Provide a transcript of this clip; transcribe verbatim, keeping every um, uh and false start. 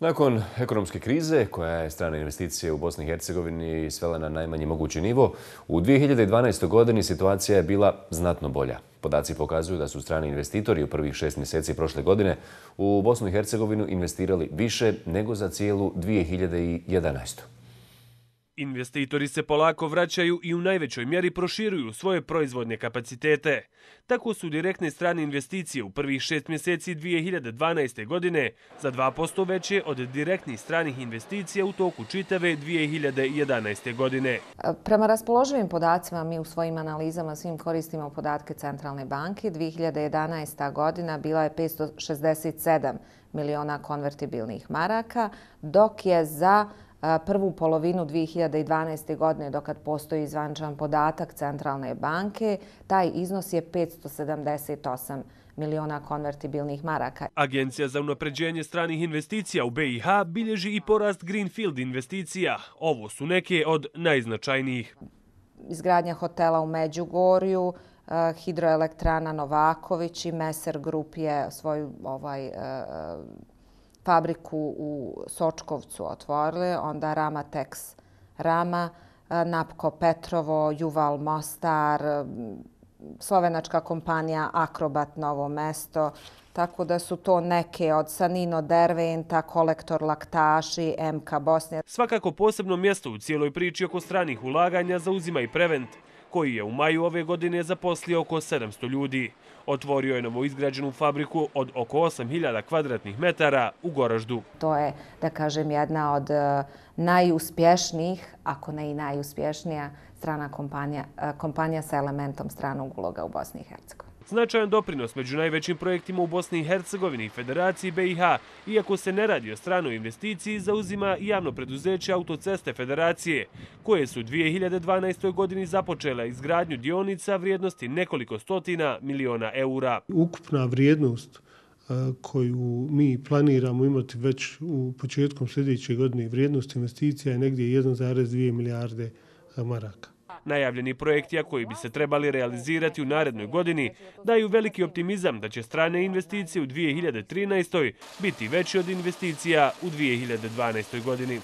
Nakon ekonomske krize, koja je strane investicije u Bosni i Hercegovini svela na najmanji mogući nivo, u dvije hiljade dvanaestoj. godini situacija je bila znatno bolja. Podaci pokazuju da su strani investitori u prvih šest mjeseci prošle godine u Bosnu i Hercegovinu investirali više nego za cijelu dvije hiljade jedanaestu. Investitori se polako vraćaju i u najvećoj mjeri proširuju svoje proizvodne kapacitete. Tako su direktne strane investicije u prvih šest mjeseci dvije hiljade dvanaeste. godine za dva posto veće od direktnih stranih investicija u toku čitave dvije hiljade jedanaeste. godine. Prema raspoloživim podacima, mi u svojim analizama svim koristimo podatke Centralne banke. dvije hiljade jedanaesta. godina bila je petsto šezdeset sedam miliona konvertibilnih maraka, dok je za prvu polovinu dvije hiljade dvanaeste. godine, dokad postoji zvaničan podatak Centralne banke, taj iznos je petsto sedamdeset osam miliona konvertibilnih maraka. Agencija za unapređenje stranih investicija u B i H bilježi i porast Greenfield investicija. Ovo su neke od najznačajnijih. Izgradnja hotela u Međugorju, hidroelektrana Novaković i Meser Grup je svoju ovaj, fabriku u Sočkovcu otvorili, onda Rama Tex Rama, Napko Petrovo, Juval Mostar, slovenačka kompanija Akrobat Novo Mesto, tako da su to neke od Sanino Derventa, Kolektor Laktaši, M K Bosnija. Svakako posebno mjesto u cijeloj priči oko stranih ulaganja zauzima i Prevent, koji je u maju ove godine zaposlio oko sedamsto ljudi. Otvorio je novoizgrađenu fabriku od oko osam hiljada kvadratnih metara u Goraždu. To je, da kažem, jedna od najuspješnijih, ako ne i najuspješnija, strana kompanija, kompanija sa elementom stranog uloga u Bosni i Hercegovini. Značajan doprinos među najvećim projektima u Bosni i Hercegovini i Federaciji B i H, iako se ne radi o stranoj investiciji, zauzima i javno preduzeće Autoceste Federacije, koje su u dvije hiljade dvanaestoj. godini započele izgradnju dionica vrijednosti nekoliko stotina miliona eura. Ukupna vrijednost koju mi planiramo imati već u početkom sljedeće godine, vrijednost investicija je negdje jedan zarez dvije milijarde maraka. Najavljeni projekti, a koji bi se trebali realizirati u narednoj godini, daju veliki optimizam da će strane investicije u dvije hiljade trinaestoj. biti veće od investicija u dvije hiljade dvanaestoj. godini.